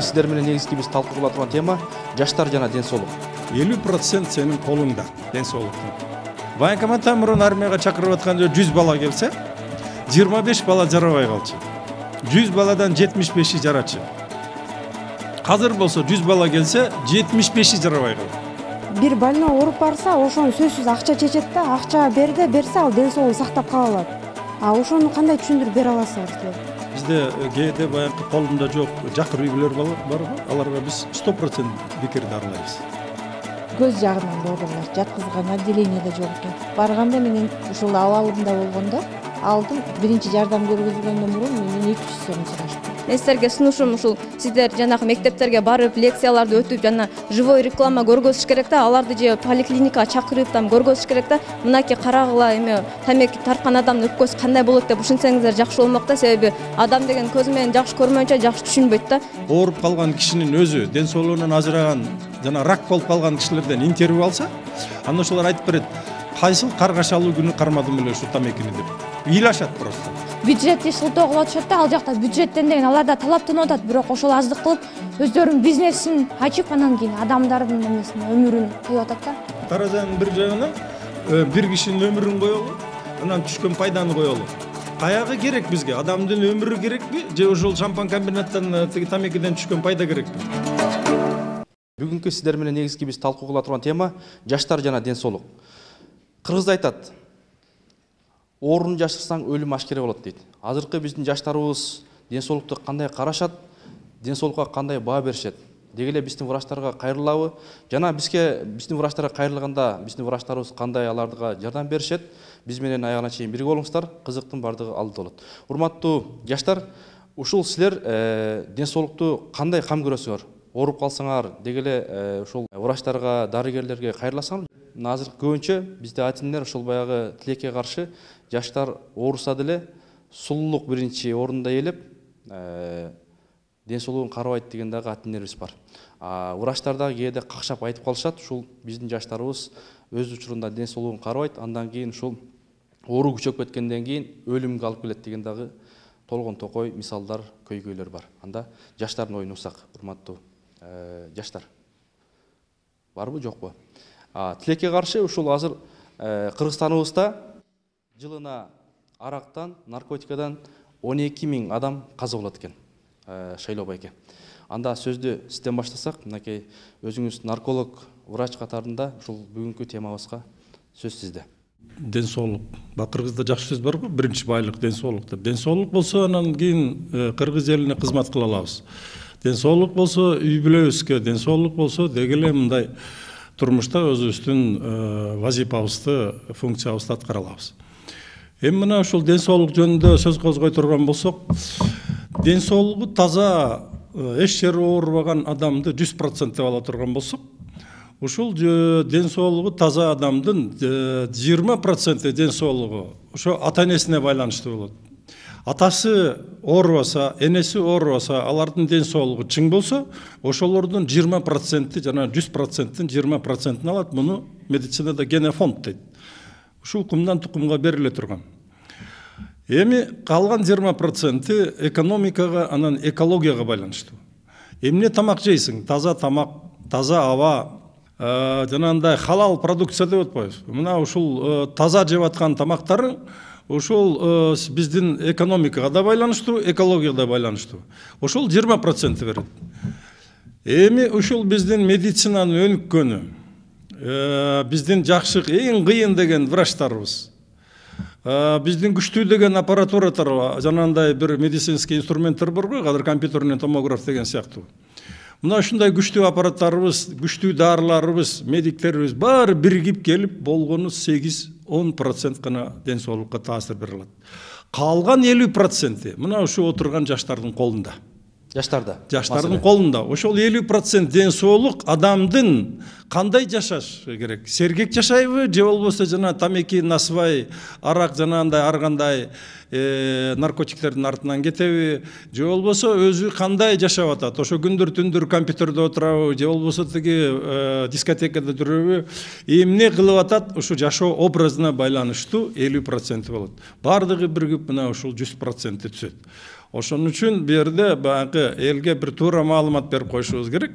сиздер менен негизги биз талкуу кыла турган тема жаштар жана ден соолук. 50% сенин колуңда ден соолуктун. Военкоматтан мурун армияга чакырып атканда 100 бала келсе, 25 бала жарабай калчу. 100 баладан 75-и жарачы. Азыр болсо 100 бала келсе, 75-и жарабай калат. Бир больной ооруп барса, ошону сөзсүз акча чечет да, акча берсе ал ден соолугун сактап кала алат. А ошону кандай түшүндүрүп бере аласыздар силер? Бизде кээде баягы колунда жок жакыр үйлөр барбы? Аларга биз 100% бекерди аралайбыз. Көз жагынан доодурлар жаткызган отделениеде жок экен. Барганда менен ушул абалымда болгондо алдым биринчи жардам көргөзгөндөн мурун менен 200 сом сурашты. Мен силерге сунушум ушул сиздер жанагы мектептерге барып лекцияларды өтүп жана живой реклама көргөзүш керек да, аларды же поликлиникага чакырып там көргөзүш керек да. Мынакей карагыла эме тамеки тарткан адамдын өпкөсү кандай болот деп ушинсеңиздер жакшы болмок да, себеби адам деген көзү менен жакшы көрмөйүнчө жакшы түшүнбөйт да. Ооруп калган кишинин өзү ден соолугунан ажыраган жана рак болуп калган кишилерден интервью алса, анда ошолор айтып берет, кайсыл каргашалуу күнү кармадым эле ушу тамекини деп. Ыйлашат просто. Бюджетти шылтоо кылып атышат да, ал жакта бюджеттен деген аларда талаптанып атат, бирок ошол аздык кылып өздөрүнүн бизнесин ачып анан кийин адамдардын эмесин өмүрүн коюп атат да. Таразанын бир жагынан бир кишинин өмүрүн коелу, анан түшкөн пайданы коелу. Каягы керек бизге? Адамдын өмүрү керекпи же ошол шампан комбинаттан тиги тамекиден түшкөн пайда керекпи? Бүгүнкү сиздер менен негизги биз талкуу кыла турган тема жаштар жана ден соолук. Кыргызда айтат, оорун жашырсаң өлүм ашкере болот дейт. Азыркы биздин жаштарыбыз ден соолукту кандай карашат, ден соолукка кандай баа беришет? Деги эле биздин врачтарга кайрылабы? Жана биздин врачтарга кайрылганда биздин врачтарыбыз кандай аларга жардам беришет? Биз менен аягына чейин бирге болуңуздар, кызыктын бардыгы алдыда болот. Урматтуу жаштар, ушул силер ден соолукту кандай кам көрөсүңөр? Ооруп калсаңар, деги эле ушул врачтарга, дарыгерлерге кайрыласыңар. Азыр көбүнчө бизде атинер ушул баягы тилекке каршы жаштар ооруса деле сулуулук биринчи орунда ээлеп, ден соолугун карабайт деген дагы атинерибиз бар. Врачтар дагы кээде какшап айтып калышат, ушул биздин жаштарыбыз өз учурунда ден соолугун карабайт, андан кийин ушул оору күчөп кеткенден кийин өлүмгө алып келет деген дагы толгон токой мисалдар, көйгөйлөр бар. Анда жаштардын оюн уксак, урматтуу жаштар. Барбы, жокпу? Тилекке каршы ушул азыр Кыргызстаныбызда жылына арактан, наркотикадан 12 000 адам каза болот экен. Шайлоо байке. Анда сөздү сизден баштасак, мынакей өзүңүз нарколог, врач катарында ушул бүгүнкү темабызга сөз сизде. Ден соолук. Кыргызда жакшы сөз барбы? Биринчи байлык ден соолук деп. Ден соолук болсо анан кийин кыргыз элине кызмат кыла алабыз. Ден соолук болсо үй бүлөбүзгө, ден соолук болсо деги эле мындай турмушта өзүбүздүн вазифабызды, функциябызды аткара алабыз. Эми мына ушул ден соолук жөнүндө сөз козгой турган болсок, ден соолугу таза, эч жери оорубаган адамды 100% деп ала турган болсок, ушул ден соолугу таза адамдын 20% ден соолугу ошо ата-энесине байланыштуу болот. Атасы оорубаса, энеси оорубаса, алардын ден соолугу чың болсо, ошолордун 20% жана 100%-тин 20%-ин алат. Муну медицинада генофонд дейт. Ушул кумдан тукумга бериле турган. Эми калган 20% экономикага, анан экологияга байланыштуу. Эмне тамак жейсиң? Таза тамак, таза аба, жанагындай халал продукция деп атпайбыз. Мына ушул таза жеп аткан тамактарын ошол биздин экономикага да байланыштуу, экологияга да байланыштуу. Ошол 20% берет. Эми ушул биздин медицинанын өнүккөнү, биздин жакшы эң кыйын деген врачтарыбыз, биздин күчтүү деген аппаратуралар, жанагындай бир медицинский инструменттер бар го, азыр компьютерный томограф деген сыяктуу. Мына ушундай күчтүү аппараттарыбыз, күчтүү дарыларыбыз, медиктерибиз баары биригип келип болгону 8-10% гана ден соолукка таасир бере алат. Калган 50% мына ушу отурган жаштардын колунда. Жаштардын колунда. Ошол 50% ден соолук адамдын кандай жашаш керек? Сергек жашайбы же болбосо жана тамеки, насыбай, арак жанагындай ар кандай наркотиктердин артынан кетеби, же болбосо өзү кандай жашап атат? Ошо күндүр түндүр компьютерде отурабы, же болбосо тиги дискотекада жүрөбү? Эмне кылып атат? Ушу жашоо образына байланыштуу 50% болот. Бардыгы биригип мына ушул 100% түшөт. Ошон үчүн бу жерде баягы элге бир туура маалымат берип коюшубуз керек.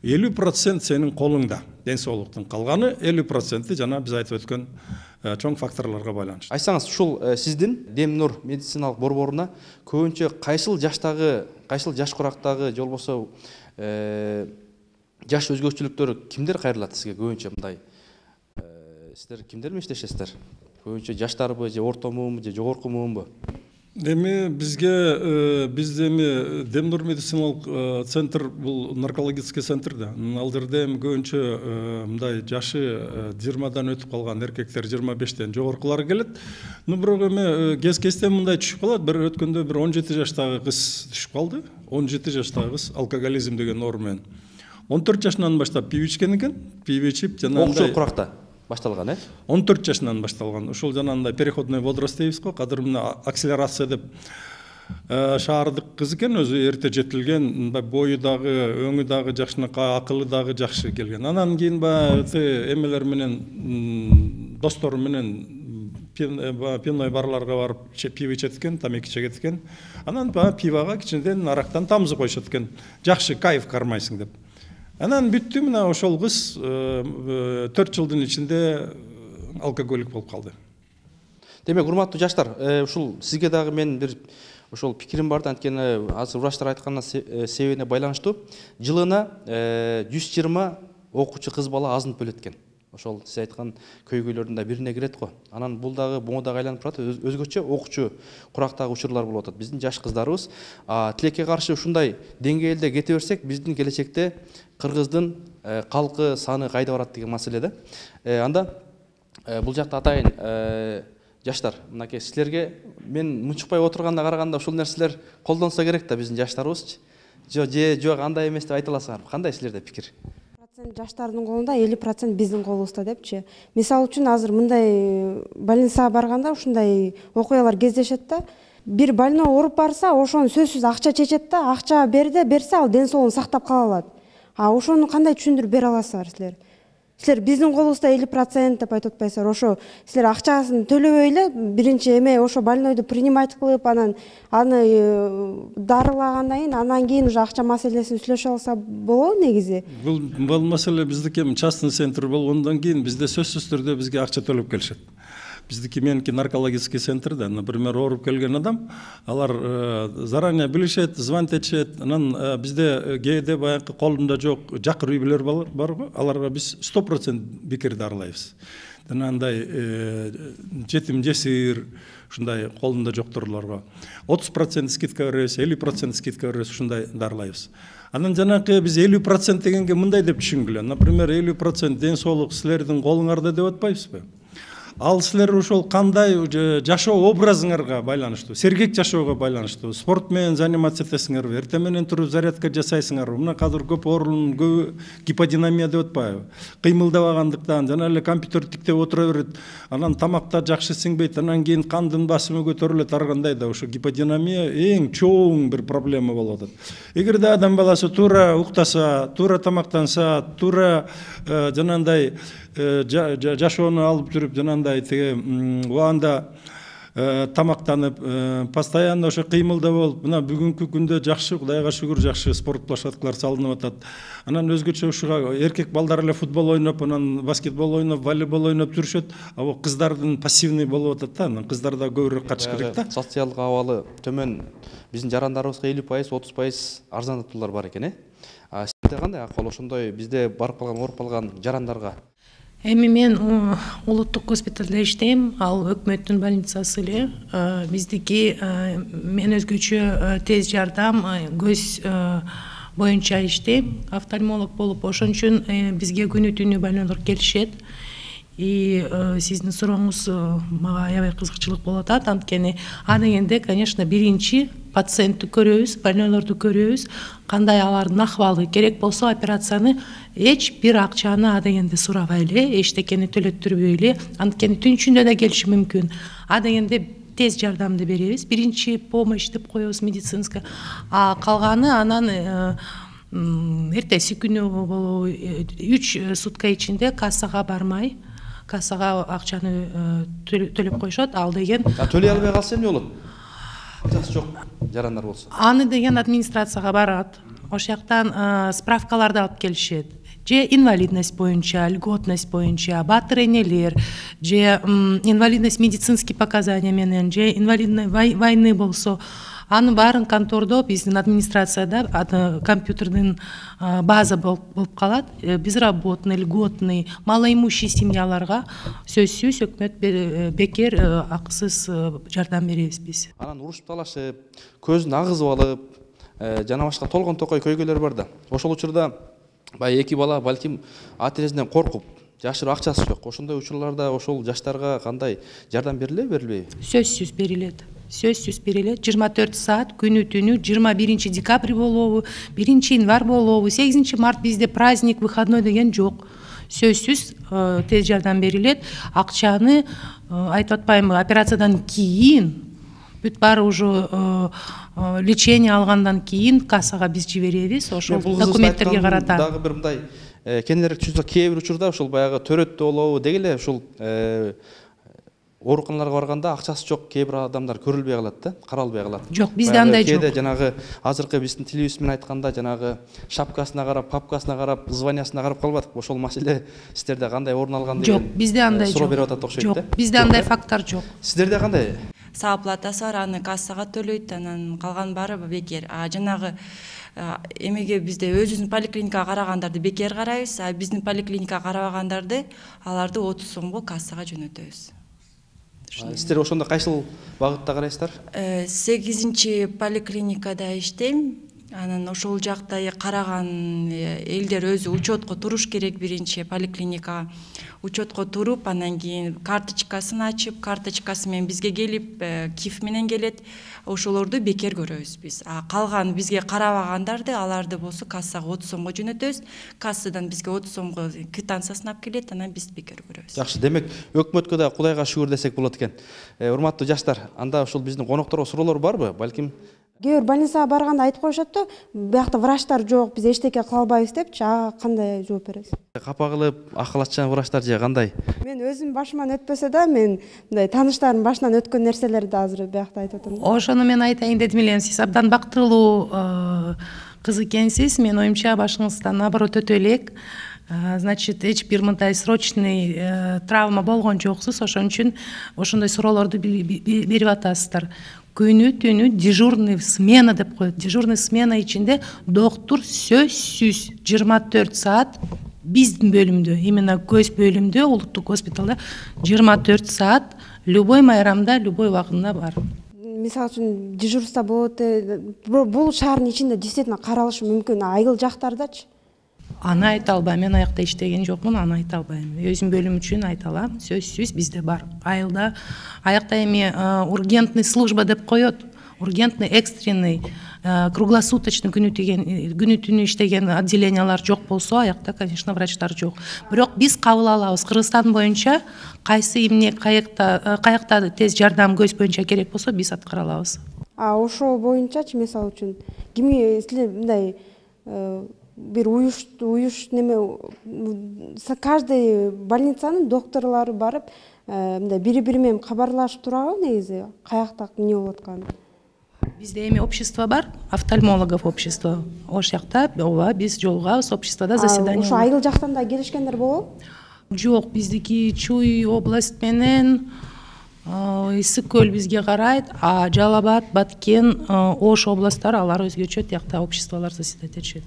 50% сенин колуңда ден соолуктун, калганы 50% жана биз айтып өткөн чоң факторлорго байланыштуу. Айтсаңыз, ушул сиздин Дем Нур медициналык борборуна көбүнчө кайсыл жаштагы, кайсыл жаш курактагы же болбосо жаш өзгөчөлүктөр кимдер кайрылат сизге көбүнчө мындай? Сиздер кимдер менен иштешесиздер? Көбүнчө жаштарбы же орто муунбу же жогорку муунбу? Эми бизге биз эми Дем Нур медициналык центр бул наркологический центр да. Ал жерде эми көбүнчө мындай жашы 20дан өтүп калган эркектер 25тен жогоркулары келет. Бирок эми кез-кезден мындай түшүп калат. Бир өткөндө бир 17 жаштагы кыз түшүп калды. 17 жаштагы кыз алкоголизм деген оору менен. 14 жашынан баштап пиво ичкен экен. Пиво ичип окуучулук куракта башталган, 14 жашынан башталган. Ушул жанагындай переходной возраст дейбиз го. Кадыр мына акселерация деп шаардык кыз экен, өзү эрте жетилген, мындай бою дагы, өңү дагы жакшынакай, акылы дагы жакшы келген. Анан кийин баягы эмелер менен достору менен пивной барларга барып пиво ичет экен, тамеки чегет экен. Анан пивага кичинеден арактан тамызы коюшат экен. Жакшы кайф кармайсың деп. Анан бүттү, мына ошол кыз 4 жылдын ичинде алкоголик болуп калды. Демек, урматтуу жаштар, ушул сизге дагы мен бир ошол пикирим бар да, анткени азыр врачтар айтканына себебине байланыштуу. Жылына 120 окуучу кыз бала азынып бөлөт экен. Ошол сиз айткан көйгөйлөрдүн да бирине кирет го. Анан бул дагы буга дагы айланып турат, өзгөчө окуучу курактагы учурлар болуп атат. Биздин жаш кыздарыбыз тилекке каршы ушундай деңгээлде кете берсек, биздин келечекте кыргыздын калкы саны кайда барат деген маселе да. Анда бул жакта атайын жаштар, мынакей силерге мен мунчукпай отурганына караганда ушул нерселер колдонсо керек да биздин жаштарыбызчы. Жок, андай эмес деп айта аласыңарбы? Кандай силерде пикир? Жаштардын колунда, 50% биздин колубузда депчи. Мисалы үчүн азыр мындай больницага барганда ушундай окуялар кездешет да. Бир больной ооруп барса, ошону сөзсүз акча чечет да, акча берсе ал ден соолугун сактап кала алат. А ошону кандай түшүндүрүп бере аласыздар силер? Силер биздин колубузда 50% деп айтып атпайсыздар. Ошо силер акчасын төлөбөй эле биринчи эме ошо больнойду принимать кылып, аны дарылагандан кийин, анан кийин уже акча маселесин сүйлөшө алса болобу негизи? Бул маселе биздики частный центр болгондон кийин бизде сөзсүз түрдө бизге акча төлөп келишет. Биздики меники наркологический центр да, например, ооруп келген адам, алар заранее билишет, звонить этишет. Анан бизде кээде баягы колунда жок жакыр үй-бүлөр бар го, аларга биз 100% бекер дарылайбыз. Андай жетим жесир, ушундай колунда жоктурлорго 30% скидка беребиз, 50% скидка беребиз, ушундай дарылайбыз. Анан жанакы биз 50% дегенге мындай деп түшүнгүлө. Например, 50% ден соолук силердин колуңарда деп атпайбызбы? Ал силер ошол кандай жашоо образыңарга байланыштуу, сергек жашоого байланыштуу, спорт менен заниматься этесиңерби, эртең менен туруп зарядка жасайсыңарбы? Мына азыр көп оорунун көбү гиподинамия деп атпайбы? Кыймылдабагандыктан, жана эле компьютер тиктеп отура берет, анан тамакта жакшы сиңбейт, анан кийин кандын басымы көтөрүлөт, ар кандай да ошо гиподинамия эң чоң бир проблема болуп атат. Эгерде адам баласы туура уктаса, туура тамактанса, туура жанандай жашоону алып жүрүп, жанандай убагында тамактанып, постоянно ошо кыймылда болуп, мына бүгүнкү күндө жакшы, Кудайга шүгүр, жакшы спорт площадкалар салынып атат. Анан өзгөчө ушуга эркек балдар эле футбол ойноп, анан баскетбол ойноп, волейбол ойноп жүрүшөт. А бул кыздардын пассивный болуп атат да, анан кыздарда көбүрөөк катыш керек да. Социалдык абалы төмөн биздин жарандарыбызга 50%, 30% арзандатуулар бар экен, сизде кандай акыл ошондой бизде барып калган, ооруп калган жарандарга? Эми мен улуттук госпиталда иштейм, ал өкмөттүн больницасы эле. Биздики мен өзгөчө тез жардам көз боюнча иштейм, офтальмолог болуп, ошон үчүн бизге күнү түнү больнойлор келишет. И сиздин сурооңуз мага аябай кызыкчылык болуп атат, анткени адегенде, конечно, биринчи пациентти көрөбүз, больнойлорду көрөбүз, кандай алардын акыбалы, керек болсо операцияны эч бир акчаны адегенде сурабай эле, эчтекени төлөттүрбөй эле, анткени түн ичинде да келиши мүмкүн. Адегенде тез жардамды беребиз, биринчи помощь деп коебуз медицинская, а калганы анан эртеси күнү болобу 3 сутка ичинде кассага бармай, кассага акчаны төлөп коюшат, ал деген. Төлөй албай калса эмне болот? Акчасы жок. жарандар болсо? Аны деген администрацияга барат. Ошол жактан справкаларды алып келишет. Же инвалидность боюнча, льготность боюнча, батыр энелер, же инвалидность медицинский показания менен, же инвалидность войны болсо, анын баарын контордо биздин администрацияда компьютердин база болуп калат. Безработный, льготный, малоимущий семьяларга сөзсүз өкмөт бекер акысыз жардам беребиз биз. Анан урушуп талашып, көзүн агызып алып, жана башка толгон токой көйгөйлөр бар да. Ошол учурда баягы эки бала балким ата энесинен коркуп, жашырып акчасы жок. Ошондой учурларда ошол жаштарга кандай жардам берилеби, берилбейби? Сөзсүз берилет. Сөзсүз берилет. 24 саат күнү түнү 21 декабрь болобу, 1 январь болобу, 8 март бизде праздник, выходной деген жок. Сөзсүз тез жардам берилет. Акчаны айтып атпаймынбы, операциядан кийин бүт баары уже лечение алгандан кийин кассага биз жиберебиз. Ошол документтерге карата. Дагы бир мындай кененирээк түшүнсөк, кээ бир учурда ошол баягы төрөттө болобу деги эле ушул ооруканаларга барганда акчасы жок кээ бир адамдар көрүлбөй калат да, каралбай калат. Жок, бизде андай жок. Кээде жанагы азыркы биздин тилибиз менен айтканда жанагы шапкасына карап, папкасына карап, званиясына карап калбадык. Ошол маселе сиздерде кандай орун алган деген? Жок, бизде андай жок. Суроо берип атат окшойт да. Жок, бизде андай факттар жок. Сиздерде кандай? Сааплатасы бар, аны кассага төлөйт, анан калган баары бекер. Жанагы эмеге бизде өзүбүздүн поликлиникага карагандарды бекер карайбыз, биздин поликлиникага карабагандарды аларды 30 сомго кассага жөнөтөбүз. Сиздер ошондо кайсыл багытта карайсыздар? 8 поликлиникада иштейм. Анан ошол жакта караган элдер өзү учетко туруш керек. Биринчи поликлиникага учетко туруп, анан кийин карточкасын ачып, карточкасы менен бизге келип, киф менен келет. Ошолорду бекер көрөбүз биз. Калган бизге карабагандарды, аларды болсо кассага 30 сомго жөнөтөбүз. Кассадан бизге 30 сомго квитанциясын алып келет, анан биз бекер көрөбүз. Жакшы, демек өкмөткө да Кудайга шүгүр десек болот экен. Урматтуу жаштар, анда ушул биздин конокторго суроолор барбы? Балким кээ бир больницага барганда айтып коюшат да, биякта врачтар жок, биз эчтеке кыла албайбыз депчи. Кандай жооп бересиз? Капа кылып, акылатчан врачтар же кандай? Мен өзүм башыман өтпөсө да, мен мындай тааныштарымдын башынан өткөн нерселерди азыр биякта айтып атам. Ошону мен айтайын дедим элем, сиз абдан бактылуу кыз экенсиз. Мен оюмча башыңыздан наоборот өтө элек. Значит, эч бир мындай срочный травма болгон жоксуз. Ошон үчүн ошондой суроолорду берип атасыздар. Күнү түнү дежурный смена деп коет. Дежурный смена ичинде доктур сөзсүз 24 саат биздин бөлүмдө, именно көз бөлүмдө, улуттук госпиталда 24 саат любой майрамда, любой убагында бар. Мисалы үчүн дежурство болот, бул шаардын ичинде действительно каралышы мүмкүн, айыл жактардачы? Аны айта албайм, мен аякта иштеген жокмун, аны айта албайм. Өзүм бөлүм үчүн айта алам, сөзсүз бизде бар. Айылда аякта эми ургентный служба деп коет, ургентный, экстренный, круглосуточный күнү түнү иштеген отделениялар жок болсо, аякта, конечно, врачтар жок. Бирок биз кабыл алабыз. Кыргызстан боюнча кайсы эмне каякта тез жардам көз боюнча керек болсо, биз аткара алабыз. Ошол боюнчачы, мисалы үчүн кимге мындай бир уюш неме, каждый больницанын докторлору барып, мындай бири-бири менен кабарлашып турабы негизи, каякта эмне болуп атканын? Бизде эми общество бар, офтальмологов общество. Ошол жакта ооба биз жолугабыз, обществода заседание. Ошо айыл жактан да келишкендер болобу? Жок, биздики Чуй область менен Ысык көл бизге карайт, а Жалал Абад, Баткен, Ош областтары алар өзгөчө тиякта обществолор заседать этишет.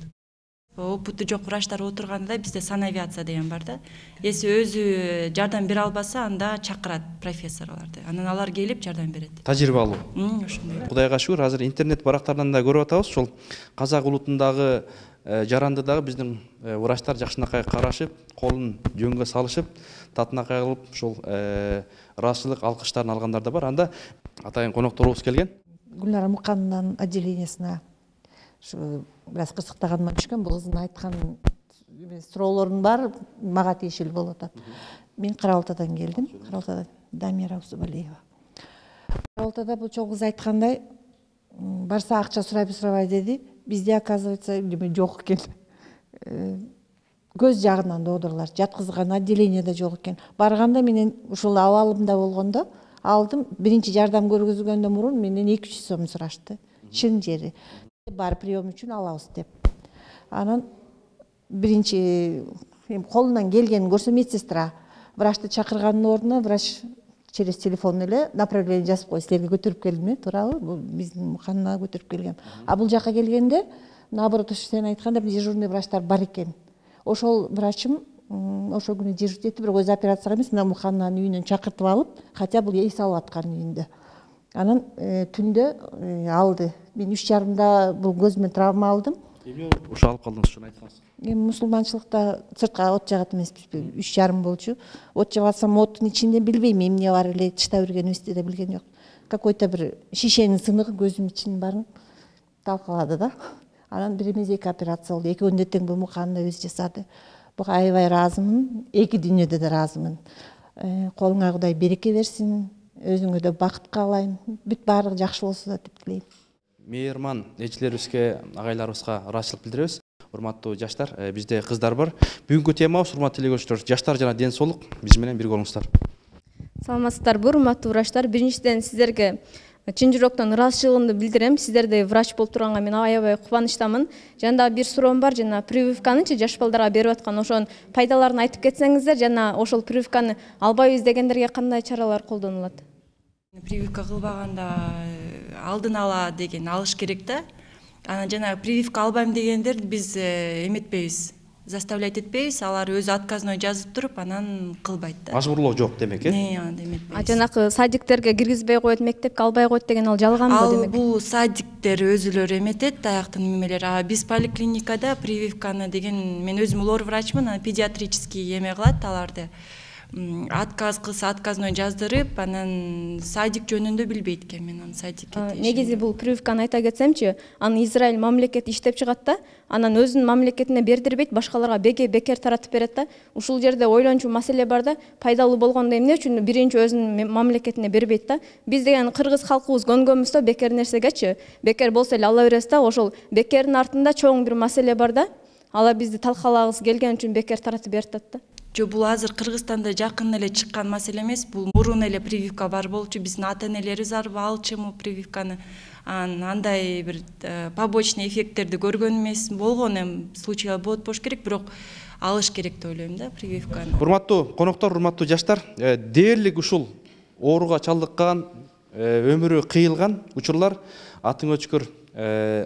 Опыты жок врачтар отурганда бизде санавиация деген бар да. Эси өзү жардам бере албаса, анда чакырат профессорлорду. Анан алар келип жардам берет. Тажрыйбалуу. Ошондой. Кудайга шүгүр, азыр интернет барактарынан да көрүп атабыз, ошол казак улутундагы жаранды дагы биздин врачтар жакшынакай карашып, колун жөнгө салышып, татынакай кылып, ушул ыраазычылык алкыштарын алгандар да бар. Анда атайын конокторубуз келген. Гүлнара Муканованын отделениясына бир аз кырсыктаганыма түшкөн, бул кыздын айткан суроолорунун баары мага тиешелүү болуп атат. Мен Кара Балтадан келдим. Кара Балтадан Дамира Усубалиева. Кара Балтада бул чоң кыз айткандай, барса акча сурабай деди. Бизде оказывается жок экен. Көз жагынан доодурлар жаткызган отделениеде жок экен. Барганда менен ушул абалымда болгондо алдым, биринчи жардам көргөзгөндөн мурун менден 200 сом сурашты. чын жери бар прием үчүн алабыз деп. Анан биринчи колунан келгенин көрсө медсестра врачты чакырганын ордуна врач через телефон эле направление жазып коет, силерге көтөрүп келдим, туурабы? Бул биздин ооканага көтөрүп келгем. А бул жака келгенде наоборот сен айткандай дежурный врачтар бар экен. Ошол врачым ошол күнү дежурить этти, бирок өзү операцияга эмес, мына оокананын үйүнөн чакыртып алып, хотя бул эс алып аткан үйүндө. Анан түндө алды. Мен 3:30 бул көзүмө травма алдым. Эмне ошо алып калдыңыз, ошону айткансыз? Мусулманчылыкта сыртка от жагат эмеспизби? 3:30 болчу. От жагып атсам, оттун ичинде билбейм эмне бар эле, тышта бергенибизди да билген жок. Какой-то бир шишенин сыныгы көзүм ичинин баарын талкалады да. Анан бир эмес 2 операция болду. Экөөнү тең бул муканына өзү жасады. Буга аябай ыраазымын. Эки дүйнөдө да ыраазымын. Колуңа Кудай береке берсин. Өзүңө да бакыт каалайм. Бүт баардыгы жакшы болсо да деп тилейм. Мейирман элчилерибизге, агайларыбызга ыраазычылык билдиребиз. Урматтуу жаштар, бизде кыздар бар. Бүгүнкү темабыз урматтуу телекөрүүчүлөр, жаштар жана ден соолук. Биз менен бирге болуңуздар. Саламатсыздарбы, урматтуу врачтар? Биринчиден сиздерге чын жүрөктөн ыраазычылыгымды билдирем. Сиздердей врач болуп турганга мен аябай кубанычтамын. Жана дагы бир суроом бар, жана прививканычы жаш балдарга берип аткан ошонун пайдаларын айтып кетсеңиздер, жана ошол прививканы албайбыз дегендерге кандай чаралар колдонулат? Прививка кылбаганда алдын ала деген алыш керек да. Анан жана прививка албайм дегендер биз эметпейбиз, заставлять этпейбиз, алар өзү отказной жазып туруп анан кылбайт да. Мажбурлоо жок демек, анда эметпейбиз. Жанакы садиктерге киргизбей коет, мектепке албай коет деген ал жалганбы демек? Бул садиктер өзүлөрү эметет, даяктын немелери. А биз поликлиникада прививканы деген, мен өзүм лор врачмын, анан педиатрический эме кылат аларды. Отказ кылса отказной жаздырып, анан садик жөнүндө билбейт экен, мен анын садикке. Негизи бул прививканы айта кетсемчи, аны Израиль мамлекети иштеп чыгат да, анан өзүнүн мамлекетине бердирбейт, башкаларга бекер таратып берет да. Ушул жерде ойлончу маселе бар да, пайдалуу болгондо эмне үчүн биринчи өзүнүн мамлекетине бербейт да? Биз деген кыргыз калкыбыз көнгөнбүз да бекер нерсегечи. Бекер болсо эле ала беребиз да, ошол бекердин артында чоң бир маселе бар да. Ала бизди талкалагыбыз келген үчүн бекер таратып берип атат да. Жо, бул азыр Кыргызстанда жакын эле чыккан маселе эмес, бул мурун эле прививка бар болчу, биздин ата-энелерибиз алчуму прививканы. Андай бир побочный эффекттерди көргөн эмес, болгон эми случайлар болот болуш керек, бирок алыш керек деп ойлойм да прививканы. Урматтуу коноктор, урматтуу жаштар, дээрлик ушул ооруга чалдыккан, өмүрү кыйылган учурлар атын өчкөр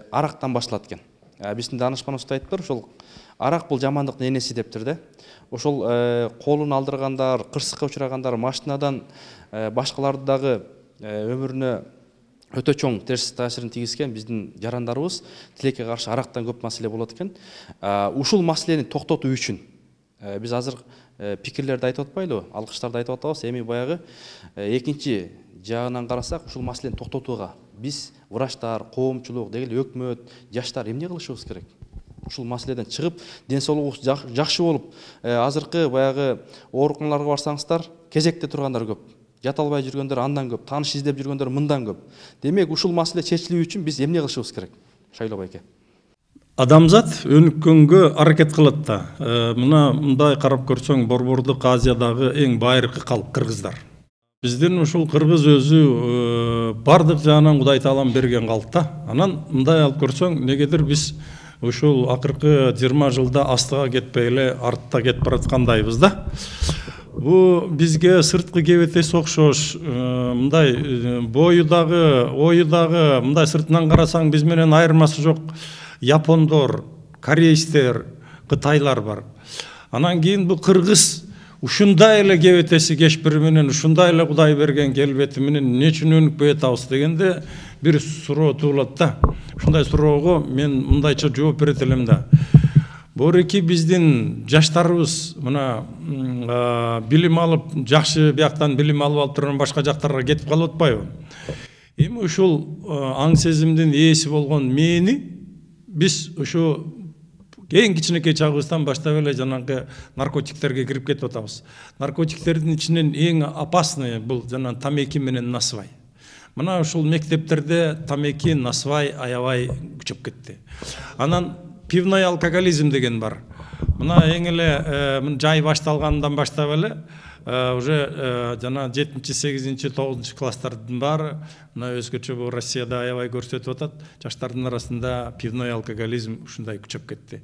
арактан башталат экен. Биздин данышпаныбыз айтыптыр, ошол арак бул жамандыктын энеси дептир да. Ошол колун алдыргандар, кырсыкка учурагандар, машинадан башкаларды дагы өмүрүнө өтө чоң терс таасирин тийгизген биздин жарандарыбыз тилекке каршы арактан көп маселе болот экен. Ушул маселени токтотуу үчүн биз азыр пикирлерди айтып атпайлыбы, алкыштарды айтып атабыз. Эми баягы экинчи жагынан карасак, ушул маселени токтотууга биз врачтар, коомчулук, деги эле өкмөт, жаштар эмне кылышыбыз керек? Ушул маселеден чыгып, ден соолугубуз жакшы болуп, азыркы баягы ооруканаларга барсаңыздар, кезекте тургандар көп. Жата албай жүргөндөр андан көп, тааныш издеп жүргөндөр мындан көп. Демек, ушул маселе чечилүү үчүн биз эмне кылышыбыз керек? Шайлоо байке. Адамзат өнүккөнгө аракет кылат да. Мына мындай карап көрсөң, Борбордук Азиядагы эң байыркы калк кыргыздар. Биздин ушул кыргыз өзү бардык жагынан Кудай Таалам берген калк да. Анан мындай алып көрсөң, негедир биз ушул акыркы 20 жылда астыга кетпей эле артта кетип бараткандайбыз да. Бу бизге сырткы кебетес окшош, мындай бою дагы, ою дагы, мындай сыртынан карасаң биз менен айырмасы жок япондор, корейстер, кытайлар бар. Анан кийин бу кыргыз ушундай эле кебетеси кешпири менен, ушундай эле Кудай берген келбети менен эмне үчүн өнүкпөй атабыз дегенде бир суроо туулат да. Ушундай суроого мен мындайча жооп берет элем да. Бореки биздин жаштарыбыз мына билим алып, жакшы бияктан билим алып турган башка жактарга кетип калып атпайбы? Эми ушул аң сезимдин ээси болгон мени биз ушу эң кичинекей чагыбыздан баштап эле жанагы наркотиктерге кирип кетип атабыз. Наркотиктердин ичинен эң опасный бул жана тамеки менен насвай. Мына ушул мектептерде тамеки, насвай аябай күчөп кетти. Анан пивной алкоголизм деген бар. Мына эң эле жай башталгандан баштап эле уже жана 7-8-9 класстардын баары мына өзгөчө бул Россияда аябай көрсөтүп атат, жаштардын арасында пивной алкоголизм ушундай күчөп кетти.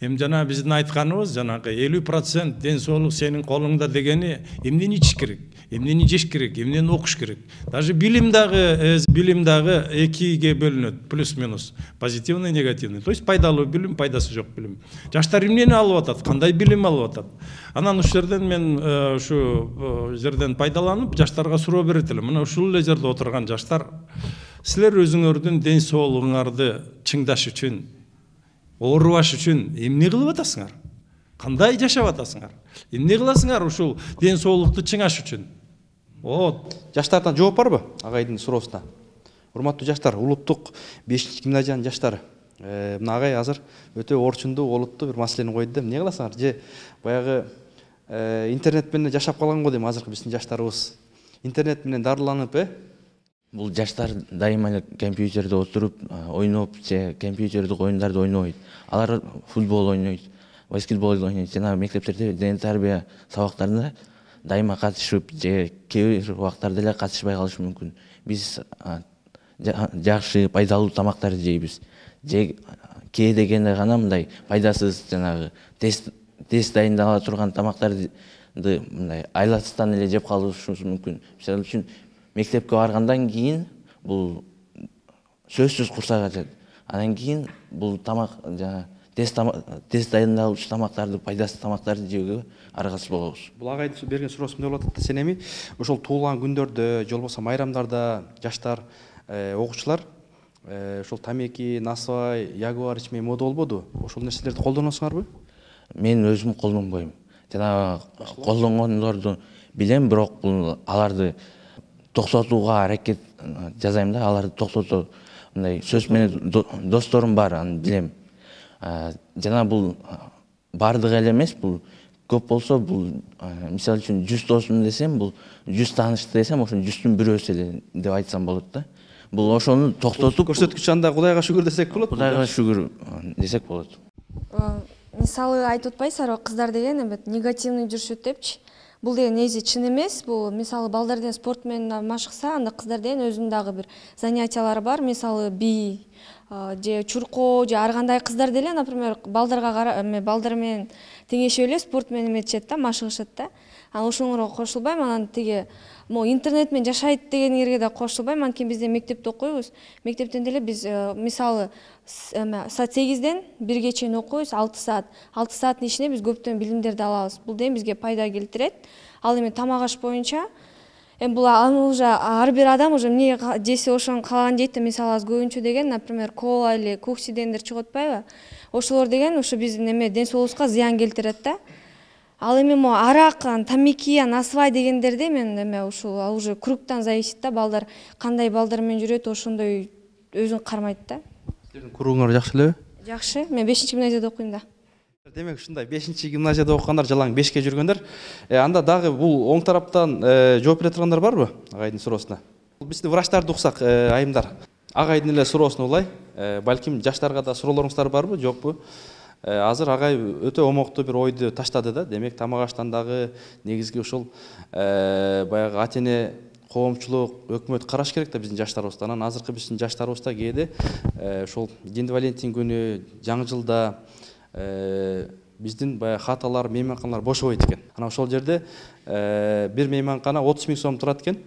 Эми жана биздин айтканыбыз жанагы 50% ден соолук сенин колуңда дегени эмнени ичиш керек, эмнени жеш керек, эмнени окуш керек. Даже билим дагы экиге бөлүнөт, плюс-минус, позитивный, негативный. То есть пайдалуу билим, пайдасы жок билим. Жаштар эмнени алып атат, кандай билим алып атат. Анан ушул жерден мен ушу жерден пайдаланып жаштарга суроо берет элем. Мына ушул эле жерде отурган жаштар, силер өзүңөрдүн ден соолугуңарды чыңдаш үчүн, оорубаш үчүн эмне кылып атасыңар? Кандай жашап атасыңар? Эмне кыласыңар ушул ден соолукту чыңаш үчүн? Жаштардан жооп барбы агайдын суроосуна? Урматтуу жаштар, улуттук 5-гимназиянын жаштары. Мына агай азыр өтө орчундуу, олуттуу бир маселени койду да. Эмне кыласыңар? Же баягы интернет менен жашап калган го дейм азыркы биздин жаштарыбыз. Интернет менен дарыланып, Бул жаштар дайыма эле компьютерде отуруп, ойноп, же компьютердик оюндарды ойнойт. Алар футбол ойнойт, баскетбол ойнойт. Жана мектептерде дене тарбия сабактарына дайыма катышып, же кээ бир убактарда эле катышпай калышы мүмкүн. Биз жакшы, пайдалуу тамактарды жейбиз. Же кээ дегенде гана мындай пайдасыз жанагы тест дайындала турган тамактарды мындай айласыздан эле жеп калышыбыз мүмкүн. Мисалы үчүн мектепке баргандан кийин бул сөзсүз курсак ачат. Анан кийин бул тамак жана тест дайындалуучу тамактарды, пайдасыз тамактарды жеүүгө аргасыз болобуз. Бул агайдын берген суроосу эмне болуп атат да, сен эми ошол туулган күндөрдө, же болбосо майрамдарда жаштар, окуучулар ошол тамеки, насвай, ягуар ичмей мода болбоду? Ошол нерселерди колдоносуңарбы? Мен өзүм колдонбойм. Жана колдонгондорду билем, бирок бул аларды токтотууга аракет жасайм да, аларды токтотуу мындай сөз менен досторум бар, аны билем. Жана бул бардыгы эле эмес, бул көп болсо бул мисалы үчүн 100 досум десем, бул 100 таанышты десем, ошонун 100-түн бирөөсү эле деп айтсам болот да. Бул ошону токтотуп, көрсөткүч анда Кудайга шүгүр десек болот. Кудайга шүгүр десек болот. Мисалы айтып атпайсызарбы, кыздар деген эбет негативный жүрүшөт депчи. Бул деген негизи чын эмес. Бул мисалы балдар деген спорт менен машыкса, анда кыздар деген өзүнүн дагы бир занятиялары бар. Мисалы би же чуркоо же ар кандай кыздар деле, например, балдар менен теңешип эле спорт менен эметишет да, машыгышат да. Анан ошоңорго кошулбайм, анан тиги интернет менен жашайт дегендерге да кошулбайм. Анткени биз мектепте окуйбуз. Мектептен деле биз мисалы саат 8-ден 1-ге чейин окуйбуз, 6 саат. 6 сааттын ичинде биз көптөн билимдерди алабыз. Бул деген бизге пайда келтирет. Ал эми тамак аш боюнча бул уже ар бир адам уже эмне жесе ошону каалаган жейт да. Мисалы аз көбүнчө деген, например, кола или кукси дегендер чыгып атпайбы? Ошолор деген ушу биздин ден соолугубузга зыян келтирет да. Ал эми арак, тамеки, насвай дегендерде мен ушул уже кругтан зависит да, балдар кандай балдар менен жүрөт, ошондой өзүн кармайт да. Силердин кругуңар жакшы элеби? Жакшы. Мен 5-гимназияда окуйм да. Демек ушундай 5-гимназияда окугандар жалаң 5-ке жүргөндөр. Анда дагы бул оң тараптан жооп бере тургандар барбы агайдын суроосуна? Биздин врачтарды уксак, айымдар. Агайдын эле суроосуна улай, балким жаштарга да суроолоруңуздар барбы, жокпу? Азыр агай өтө омоктуу бир ойду таштады да. Демек тамак аштан дагы негизги ушул баягы ата-эне, коомчулук, өкмөт караш керек да биздин жаштарыбызда. Анан азыркы биздин жаштарыбызда кээде ушул Дин Валентин күнү, жаңы жылда биздин баягы хаталар, мейманканалар бошобойт экен. Анан ошол жерде бир мейманкана 30 000 сом турат экен.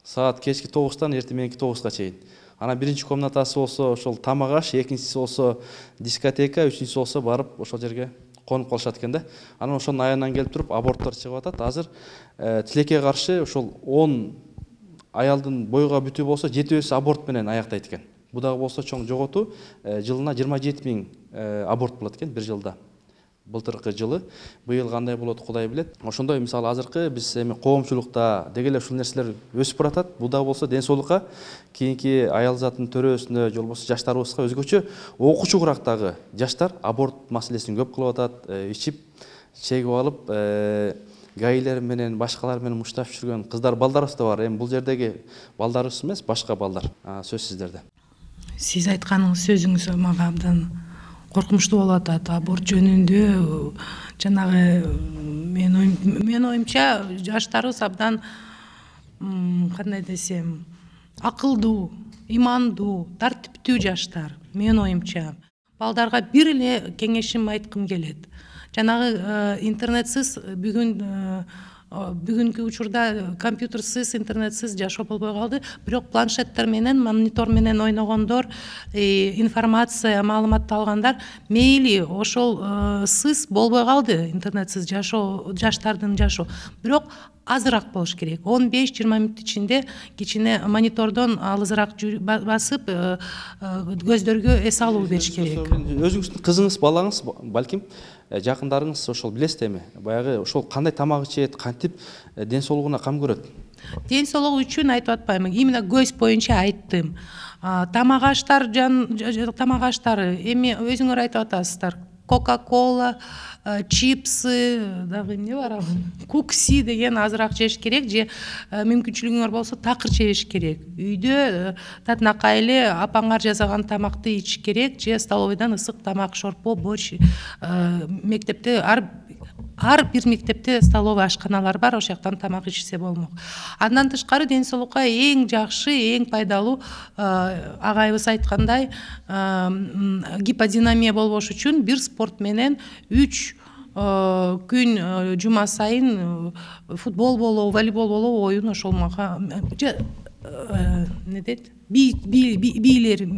Саат кечки 9-тан эртең мененки 9-га чейин. Анан биринчи комнатасы болсо ошол тамак аш, экинчиси болсо дискотека, үчүнчүсү болсо барып ошол жерге конуп калышат экен да. Анан ошонун аянынан келип туруп аборттор чыгып атат. Азыр тилекке каршы ошол 10 аялдын бойга бүтүү болсо 7-өсү аборт менен аяктайт экен. Бу дагы болсо чоң жоготуу, жылына 27 000 аборт болот экен бир жылда. Былтыркы жылы, быйыл кандай болот Кудай билет. Ошондой мисалы азыркы биз эми коомчулукта деги эле ушул нерселер өсүп баратат. Бул дагы болсо ден соолукка, кийинки аял затын төрөсүнө, же болбосо жаштарыбызга өзгөчө окуучугурактагы жаштар аборт маселесин көп кылып атат, ичип, чегип алып, гайлер менен, башкалар менен мушташып жүргөн кыздар, балдарыбыз да бар. Эми бул жердеги балдарыбыз эмес, башка балдар. Сөз сиздерде. Сиз айтканыңыз сөзүңүз мага абдан коркунучтуу болуп атат. Аборт жөнүндө жанагы мен оюмча жаштарыбыз абдан кандай десем, акылдуу, имандуу, тартиптүү жаштар. Менин оюмча балдарга бир эле кеңешим айткым келет. Жанагы интернетсиз бүгүнкү учурда компьютерсиз, интернетсиз жашоо болбой калды. Бирок планшеттер менен, монитор менен ойногондор, информация, маалыматты алгандар мейли ошол сыз болбой калды интернетсиз жашоо, жаштардын жашоо. Бирок азыраак болуш керек. 15-20 мүнөт ичинде кичине монитордон алысыраак басып көздөргө эс алуу бериш керек. Өзүңүздүн кызыңыз, балаңыз, балким жакындарыңыз ошол билесиз эми, баягы ошол кандай тамак ичет, кантип ден соолугуна кам көрөт? Ден соолугу үчүн айтып атпайм, именно көз боюнча айттым. Тамак аштар эми өзүңөр айтып атасыздар. Кока-кола, чипсы, дагы эмне бар, кукси деген азыраак жеш керек, же мүмкүнчүлүгүңөр болсо такыр жеш керек. Үйдө татынакай эле апаңар жасаган тамакты ич керек, же столовойдон ысык тамак, шорпо, борщ. Мектепте ар бир мектепте столовый ашканалар бар, ошол жактан тамак ичсе болмок. Андан тышкары ден соолукка эң жакшы, эң пайдалуу, агайыбыз айткандай, гиподинамия болбош үчүн бир спорт менен 3 күн жума сайын футбол болобу, волейбол болобу оюн ошолмага не дейт? Бийчилер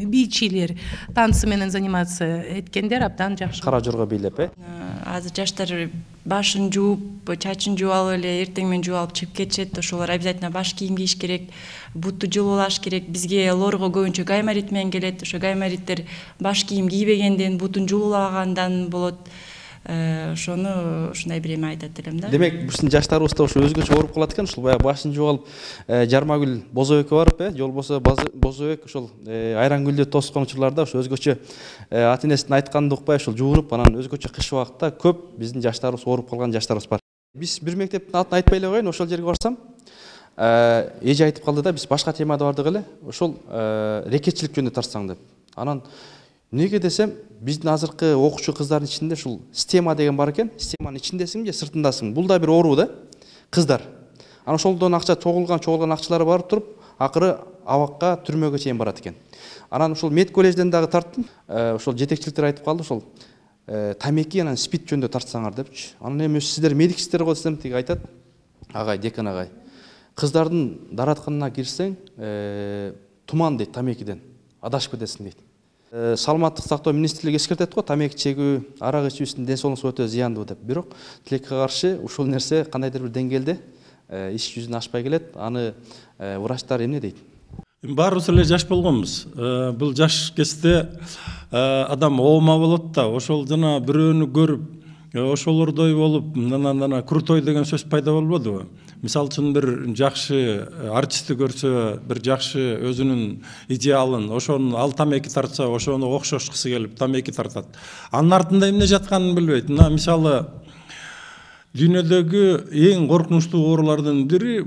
танцы менен заниматься эткендер абдан жакшы. Кара жорго бийлеп, Азыр жаштар башын жууп, чачын жууп алып эле эртең менен жууп алып чыгып кетишет. Ошолор обязательно баш кийим кийиш керек, бутту жылуулаш керек. Бизге лорго көбүнчө гайморит менен келет. Ошо гаймориттер баш кийим кийбегенден, бутун жылуулагандан болот. Ошону ушундай бир эме айтат элем да. Демек, биздин жаштарыбызда ошо өзгөчө ооруп калат экен, ушул баягы башын жууп алып, Жармагүл Бозобекке барып, же болбосо Бозобек ошол Айрангүлдү тоскон учурларда ошо өзгөчө ата энесинин айтканын укпай ошол жуунуп, анан өзгөчө кыш убакытта көп биздин жаштарыбыз ооруп калган жаштарыбыз бар. Биз бир мектептин атын айтпай эле коеюн, ошол жерге барсам, эже айтып калды да, биз башка темада бардык эле, ошол рекетчилик жөнүндө тартсаң деп. Анан эмнеге десем, биздин азыркы окуучу кыздардын ичинде ушул система деген бар экен. Системанын ичиндесиңби же сыртындасың? Бул да бир оору да, кыздар. Анан ошолдон акча чогулган акчалары барып туруп, акыры абакка, түрмөгө чейин барат экен. Анан ушул мед коллежден дагы тарттым. Ошол жетекчиликтер айтып калды, ошол тамеки анан спид жөнүндө тартсаңар депчи. Анан эми сиздер медиксиздер го десем, тиги айтат. Агай, декан агай. Кыздардын даратканына кирсең, туман дейт тамекиден. Адашып кетесиң дейт. Саламаттык сактоо министрлиги эскертет го, тамеки чегүү, арак ичүү сиздин ден соолугуңузга өтө зыяндуу деп. Бирок тилекке каршы ушул нерсе кандайдыр бир деңгээлде иш жүзүнө ашпай келет. Аны врачтар эмне дейт? Баарыбыз эле жаш болгонбуз. Бул жаш кезде адам оома болот да, ошол жана бирөөнү көрүп, ошолордой болуп, нана крутой деген сөз пайда болбодубу? Мисалы үчүн бир жакшы артистти көрсө, бир жакшы өзүнүн идеалын, ошону ал тамеки тартса, ошону окшошкысы келип тамеки тартат. Анын артында эмне жатканын билбейт. Мына мисалы дүйнөдөгү эң коркунучтуу оорулардын бири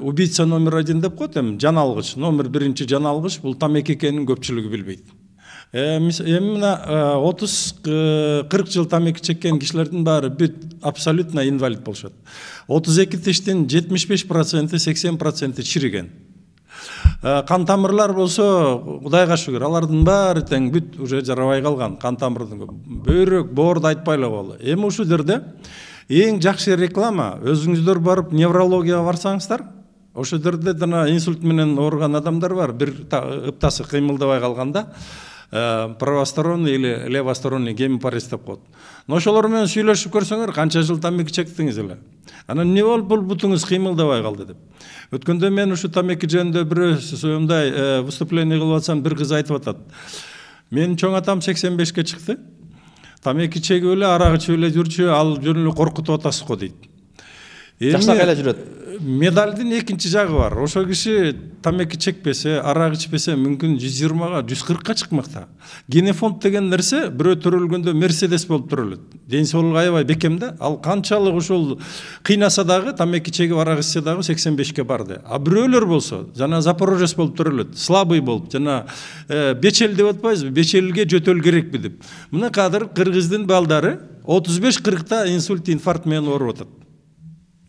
убийца номер 1 деп коет эми, жаналгыч, номер 1 жаналгыч, бул тамеки экенин көпчүлүгү билбейт. Эми мына 30-40 жыл тамеки чеккен кишилердин баары бүт абсолютно инвалид болушат. 32 тиштин 75%, 80% чириген. Кан тамырлар болсо, Кудайга шүгүр, алардын баары тең бүт уже жарабай калган. Кан тамырдын бөйрөк, боорду айтпай эле коелу. Эми ушул жерде эң жакшы реклама, өзүңүздөр барып неврологияга барсаңыздар, ошол жерде жана инсульт менен ооруган адамдар бар, бир ыптасы кыймылдабай калганда, правосторонний или левосторонний гемипарез деп коет. Но ошолор менен сүйлөшүп көрсөңөр, канча жыл тамеки чектиңиз эле. Анан эмне болуп бул бутуңуз кыймылдабай калды деп. Өткөндө мен ушу тамеки жөнүндө бир мындай выступление кылып атсам, бир кыз айтып атат. Менин чоң атам 85-ке чыкты. Тамеки чегип эле, арак ичип эле жүрчү, ал жөн эле коркутуп атасыз го дейт. Жаштак эле жүрөт. Медалдын экинчи жагы бар. Ошол киши тамеки чекпесе, арак ичпесе, мүмкүн 120-га, 140-ка чыкмакта. Генофонд деген нерсе бирөө төрөлгөндө Мерседес болуп төрөлөт. Ден соолугу аябай бекем да. Ал канчалык ушул кыйнаса дагы, тамеки чегип арак ичсе дагы 85-ке барды. А бирөөлөр болсо, жана Запорожец болуп төрөлөт, слабый болуп, жана бечел деп атпайбызбы, бечелге жөтөл керекпи деп. Мына кадыр кыргыздын балдары 35-40-та инсульт, инфаркт менен ооруп атат.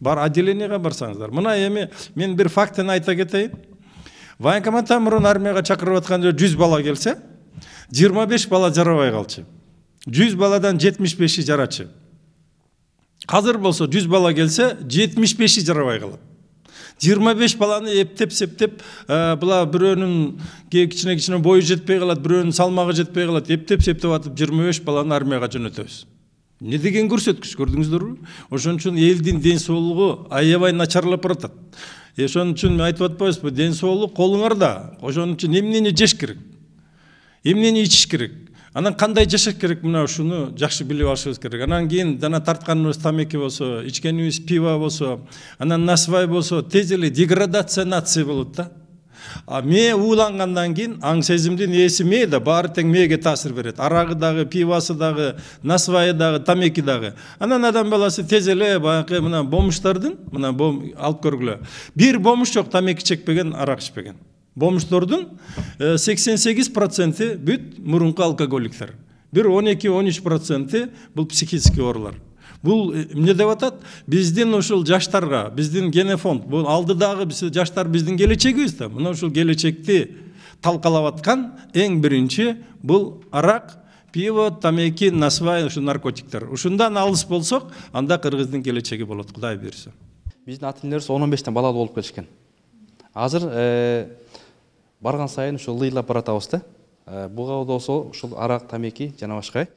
Бар отделениеге барсаңыздар. Мына эми мен бир фактын айта кетейин. Военкоматтан мурун армияга чакырып атканда 100 бала келсе, 25 бала жарабай калчу. 100 баладан 75-и жарачы. Азыр болсо 100 бала келсе, 75-и жарабай калат. 25 баланы эптеп-септеп, була бирөөнүн кичине бою жетпей калат, бирөөнүн салмагы жетпей калат, эптеп-септеп атып 25 баланы армияга жөнөтөбүз. Не деген көрсөткүч, көрдүңүздөрбү? Ошон үчүн элдин ден соолугу аябай начарлап баратат. Ошон үчүн айтып атпайбызбы, ден соолук колуңарда. Ошон үчүн эмнени жеш керек? Эмнени ичиш керек? Анан кандай жашаш керек, мына ушуну жакшы билип алышыбыз керек. Анан кийин жана тартканыбыз тамеки болсо, ичкенибиз пиво болсо, анан насвай болсо, тез эле деградация нации болот да. Мээ уулангандан кийин аң сезимдин ээси мээ да, баары тең мээге таасир берет. Арагы дагы, пивасы дагы, насвайы дагы, тамеки дагы. Анан адам баласы тез эле баягы мына бомуштардын, мына алып көргүлө. Бир бомуш жок тамеки чекпеген, арак ичпеген. Бомуштардын 88% бүт мурунку алкоголиктер. Бир 12-13% бул психический оорулар. Бул эмне деп атат? Биздин ушул жаштарга, биздин генофонд, бул алдыдагы жаштар биздин келечегибиз да. Мына ушул келечекти талкалап аткан эң биринчи бул арак, пиво, тамеки, насвай, ушу наркотиктер. Ушундан алыс болсок, анда кыргыздын келечеги болот, Кудай буйрса. Биздин ата-энелерибиз 15-тен балалуу болуп келишкен. Азыр барган сайын ушул лыйлап баратабыз да. Буга болсо ушул арак, тамеки жана башка.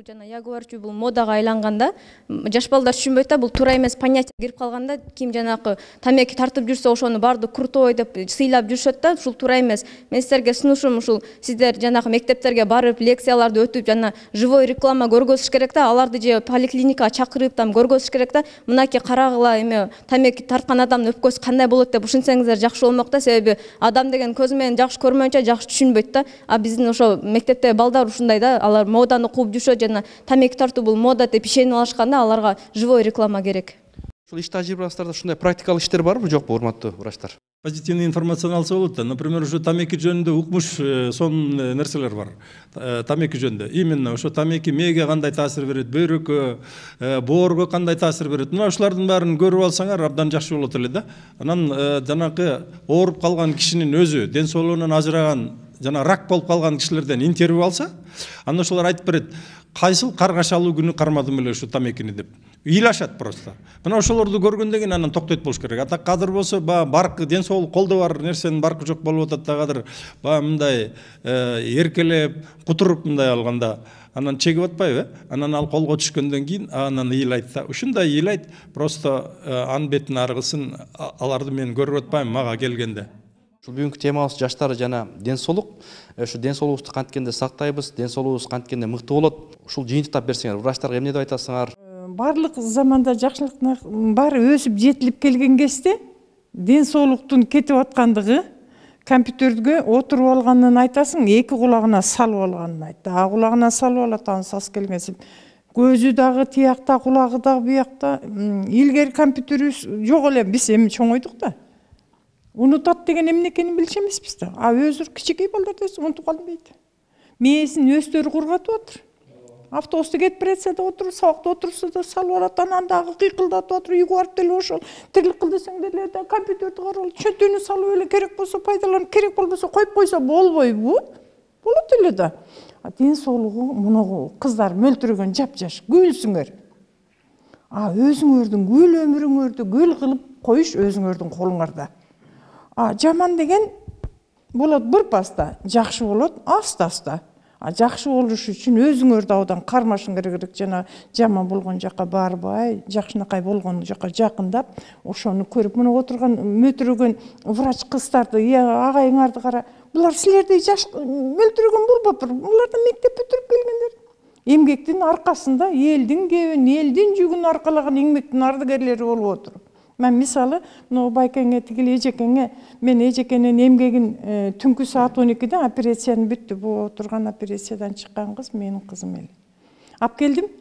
Жана ягуарчу бул модага айланганда жаш балдар түшүнбөйт да, бул туура эмес понятие кирип калганда, ким жанакы тамеки тартып жүрсө ошону барды крутой деп сыйлап жүрүшөт да, ушул туура эмес. Мен силерге сунушум ушул сиздер жанакы мектептерге барып лекцияларды өтүп, жана живой реклама көргөзүш керек да, аларды же поликлиникага чакырып там көргөзүш керек да. Мынакей карагыла эме тамеки тарткан адамдын өпкөсү кандай болот деп ушинсеңиздер жакшы болмок да, себеби адам деген көзү менен жакшы көрмөйүнчө жакшы түшүнбөйт да. А биздин ошо мектептеги балдар ушундай да, алар моданы кууп жүрүшөт, жана тамеки тартуу бул мода деп ишенип алышканда аларга живой реклама керек. Ушул иш тажрыйбаларыңыздарда ушундай практикалык иштер барбы, жокпу, урматтуу врачтар? Позитивный информацияны алса болот да. Например, ушу тамеки жөнүндө укмуш сонун нерселер бар. Тамеки жөнүндө. Именно ошо тамеки мээге кандай таасир берет, бөйрөккө, боорго кандай таасир берет. Мына ушулардын баарын көрүп алсаңар абдан жакшы болот эле да. Анан жанакы ооруп калган кишинин өзү, ден соолугунан ажыраган, жана рак болуп калган кишилерден интервью алса, анан ошолор айтып берет, кайсыл каргашалуу күнү кармадым эле ушу тамекини деп. Ыйлашат просто. Мына ошолорду көргөндөн кийин анан токтойт болуш керек. Ата кадыр болсо, баркы ден соолук колдо бар нерсенин баркы жок болуп атат да, кадыр мындай эркелеп, кутуруп мындай алганда анан чегип атпайбы? Анан ал колго түшкөндөн кийин анан ыйлайт да. Ушундай ыйлайт, просто анын бетин аргысын аларды мен көрүп атпайм мага келгенде. Бүгүнкү темабыз жаштар жана ден соолук. Ушу ден соолугубузду кантикенде сактайбыз, ден соолугубуз кантикенде мыкты болот. Ушул жыйынтыктап берсеңер, врачтарга эмне деп айтасыңар? Барлык заманда жакшылыктын баары өсүп жетилип келген кезде ден соолуктун кетип аткандыгы компьютерге отуруп алганын айтасың, эки кулагына салып алганын айт. А кулагына салып алат, аны сас келгенсип. Көзү дагы тиякта, кулагы дагы буякта. Илгери компьютерибиз жок эле, биз эми чоңойдук да. Унутат деген эмне экенин билчү эмеспиз да. А өзүр кичинекей балдар десе унутуп калдым дейт. Мээсин өздөрү кургатып атыр. Автобуста кетип баратса да отуруп, сабакта отурса да салып алат, анан дагы кыйкылдатып атыр. Үйгө барып деле ошол тирлик кыл десең деле да компьютерди карап, чөтүнү салып эле керек болсо пайдаланып, керек болбосо коюп койсо болбойбу? Болот эле да. Ден соолугу муну кыздар мөлтүрөгөн жапжаш, күлсүңөр. А өзүңөрдүн гүл өмүрүңөрдү гүл кылып коюш өзүңөрдүн колуңарда. Жаман деген болот бир паста, жакшы болот аста-аста. Жакшы болуш үчүн өзүңөрдү абдан кармашың керек, жана жаман болгон жака барбай, жакшынакай болгон жака жакындап, ошону көрүп, мына отурган мөлтүрөгөн врач кыздарды, агайыңарды кара. Булар силердей жаш мөлтүрөгөн болбоптур. Булар да мектеп бүтүрүп келгендер. Эмгектин аркасында элдин кебин, элдин жүгүн аркалаган эмгектин ардыгерлери болуп отур. Мен мисалы, мына байкеңе тигил эжекеңе, мен эжекенин эмгегин түнкү саат 12-де операцияны бүттү. Бу отурган операциядан чыккан кыз менин кызым эле. Ап келдим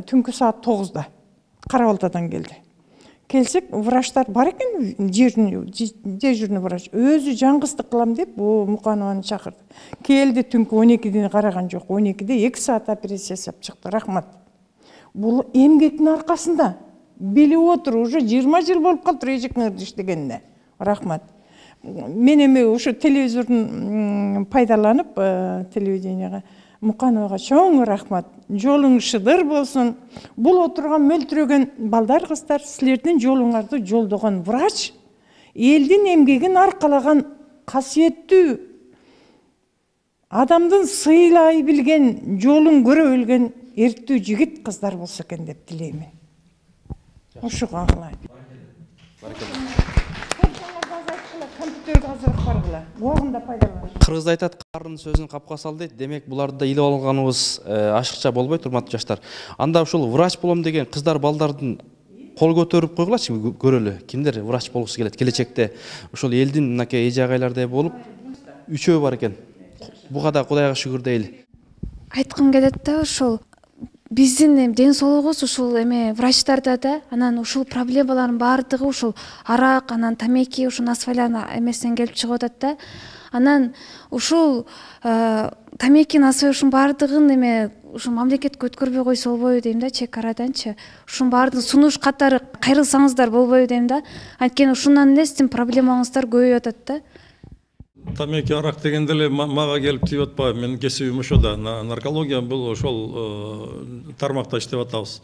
түнкү саат 9-да. Кара-Балтадан келди. Келсек, врачтар бар экен, дежурный врач. Өзү жаңгыздык кылам деп, бу Муканованы чакырды. Келди түнкү 12-ден караган жок. 12-де 2 саат операция жасап чыкты. Рахмат. Бул эмгектин аркасында. Билип отур, уже 20 жыл болуп калыптыр эжекеңерди иштегенине. Рахмат. мен эми ошо телевизордун пайдаланып телевиденияга Мукановага чоң рахмат. Жолуң шыдыр болсун. Бул отурган мөлтүрөгөн балдар кыздар силердин жолуңарды жолдогон врач, элдин эмгегин аркалаган касиеттүү адамдын сыйлай билген, жолун көрө билген эрттүү жигит кыздар болсо экен деп тилеймин. Ушуга калайын. Компьютерге азыраак баргыла. Уагында пайдаланып. Кыргызда айтат, карын сөзүн капка сал дейт. Демек буларды да илип алганыбыз ашыкча болбойт, урматтуу жаштар. Анда ушул врач болом деген кыздар балдардын кол көтөрүп койгулачы, көрөлү. Кимдер врач болгусу келет келечекте? Ушул элдин мынакей эже агайлардай болуп, 3 бар экен. Буга да Кудайга шүгүр дейли. Айткым келет да, ушул биздин ден соолугубуз ушул эме врачтарда да, анан ушул проблемалардын баардыгы ушул арак, анан тамеки, ушул насвайлардын эмесинен келип чыгып атат да. Анан ушул тамеки, насвай баардыгын эме ушул мамлекетке өткөрбөй койсо болбойбу дейм да, чек араданчы. Ушунун баардыгын сунуш катары кайрылсаңыздар болбойбу дейм да. Анткени ушундан эле сиздин проблемаңыздар көбөйүп атат да. Тамеки, арак дегенде эле мага келип тийип атпайбы? Менин кесибим ошо да. Наркология бул ошол тармакта иштеп атабыз.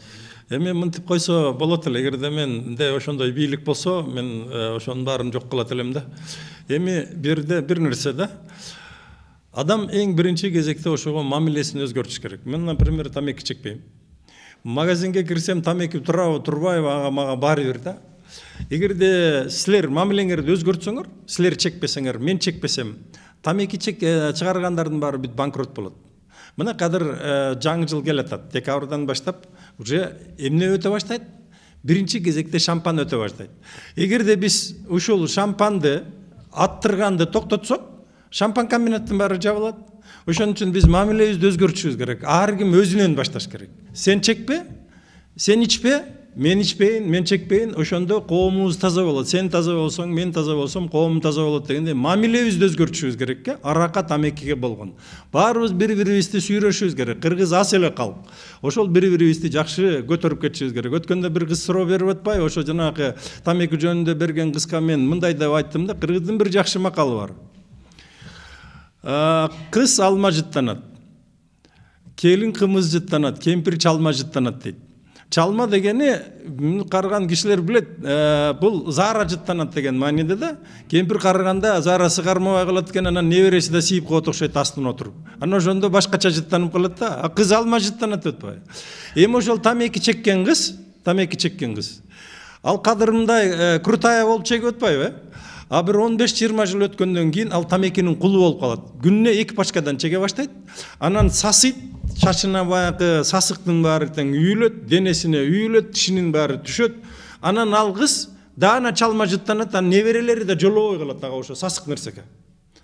Эми мынтип койсо болот эле. Эгерде менде ошондой бийлик болсо, мен ошонун баарын жок кылат элем да. Эми бир нерсе да. Адам эң биринчи кезекте ошого мамилесин өзгөртүш керек. Мен, например, тамеки чекпейм. Магазинге кирсем, тамеки турабы, турбайбы, ага мага баары бир да. Эгерде силер мамилеңерди өзгөртсөңөр, силер чекпесеңер, мен чекпесем, тамеки чыгаргандардын баары бүт банкрот болот. Мына кадыр жаңы жыл келатат, декабрдан баштап уже эмне өтө баштайт? Биринчи кезекте шампан өтө баштайт. Эгерде биз ушул шампанды аттырганды токтотсок, шампан комбинаттын баары жабылат. Ошон үчүн биз мамилебизди өзгөртүшүбүз керек. Ар ким өзүнөн башташ керек. Сен чекпе, сен ичпе, мен ичпейин, мен чекпейин, ошондо коомубуз таза болот. Сен таза болсоң, мен таза болсом, коомум таза болот дегенде мамилебизди өзгөртүшүбүз керек. Аракка, тамекиге болгон. Баарыбыз бири-бирибизди сүйрөшүбүз керек. Кыргыз ас эле калк. Ошол бири-бирибизди жакшы көтөрүп кетишибиз керек. Өткөндө бир кыз суроо берип атпайбы? Ошо жанагы тамеки жөнүндө берген кызга мен мындай деп айттым да, кыргыздын бир жакшы макалы бар. Кыз алма жыттанат, келин кымыз жыттанат, кемпир чалма жыттанат дейт. Чалма дегени карыган кишилер билет, бул заара жыттанат деген мааниде да. Кемпир карыганда заарасы кармабай калат экен, анан небереси да сийип коет окшойт астына отуруп. Анан ошондо башкача жыттанып калат да. Кыз алма жыттанат деп атпайбы? Эми ошол тамеки чеккен кыз, ал кадырымдай крутая болуп чегип атпайбы? А бир 15-20 жыл өткөндөн кийин ал тамекинин кулу болуп калат. Күнүнө 2 пачкадан чеге баштайт. Анан сасыйт, чачына баягы сасыктын баары тең үйүлөт, денесине үйүлөт, тишинин баары түшөт. Анан ал кыз даана чалма жыттанат, анан неберелери да жолобой калат ага ошо сасык нерсеге.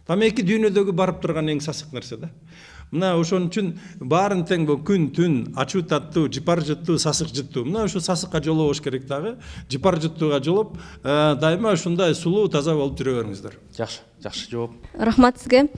Тамеки дүйнөдөгү барып турган эң сасык нерсе да. Мына ошон үчүн баарын тең бул күн, түн, ачуу таттуу, жыпар жыттуу, сасык жыттуу. Мына ошо сасыкка жолобош керек дагы. Жыпар жыттууга жолоп, дайыма ушундай сулуу, таза болуп жүрө бериңиздер. Жакшы жооп. Рахмат сизге.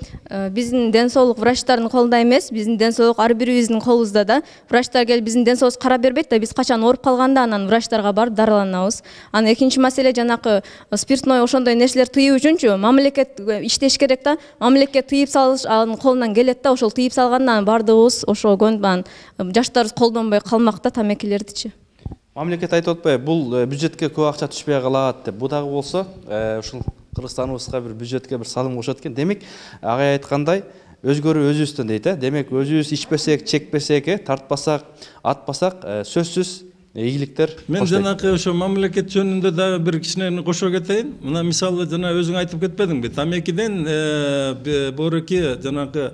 Биздин ден соолук врачтардын колунда эмес, биздин ден соолук ар бирибиздин колубузда да. Врачтар келип биздин ден соолубузду карап бербейт да, биз качан ооруп калганда анан врачтарга барып дарыланабыз. Анан экинчи маселе жанакы спиртной ошондой нерселер тыюу үчүнчү мамлекет иштеш керек да. Мамлекет тыйып салыш анын колунан келет да, ошол тыйып салгандан баардыгыбыз ошо көнбан жаштарыбыз колдонбой калмак да тамекилердичи. Мамлекет айтып атпайбы, бул бюджетке көп акча түшпөй калат деп. Бу дагы болсо, ушул Кыргызстаныбызга бир бюджетке бир салым кошот экен. Демек, агай айткандай, өзгөрүү өзүбүздөн дейт, Демек, өзүбүз ичпесек, чекпесек, тартпасак, атпасак, сөзсүз ийгиликтер. Мен жанакы ошо мамлекет жөнүндө дагы бир кичинени кошо кетейин. Мына мисалы жана өзүң айтып кетпедиңби? Тамекиден борки жанакы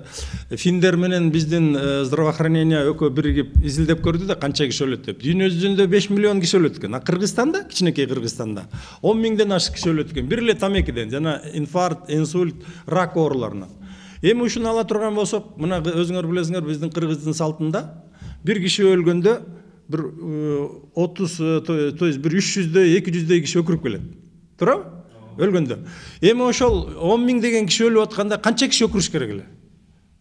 финдер менен биздин здравоохранение экөө биригип изилдеп көрдү да канча киши өлөт деп. Дүйнө жүзүндө 5 миллион киши өлөт экен. А Кыргызстанда, кичинекей Кыргызстанда 10 миңден ашык киши өлөт экен. Бир эле тамекиден жана инфаркт, инсульт, рак ооруларынан. Эми ушуну ала турган болсок, мына өзүңөр билесиңер, биздин Кыргыздын салтында бир киши өлгөндө bir 30, то есть bir 300'de 200'de kişi ökürüp geledi. Doğru? Ölgöndө. Эми ошол 10 миң деген киши өлүп атканда канча киши өкүрүш керек эле?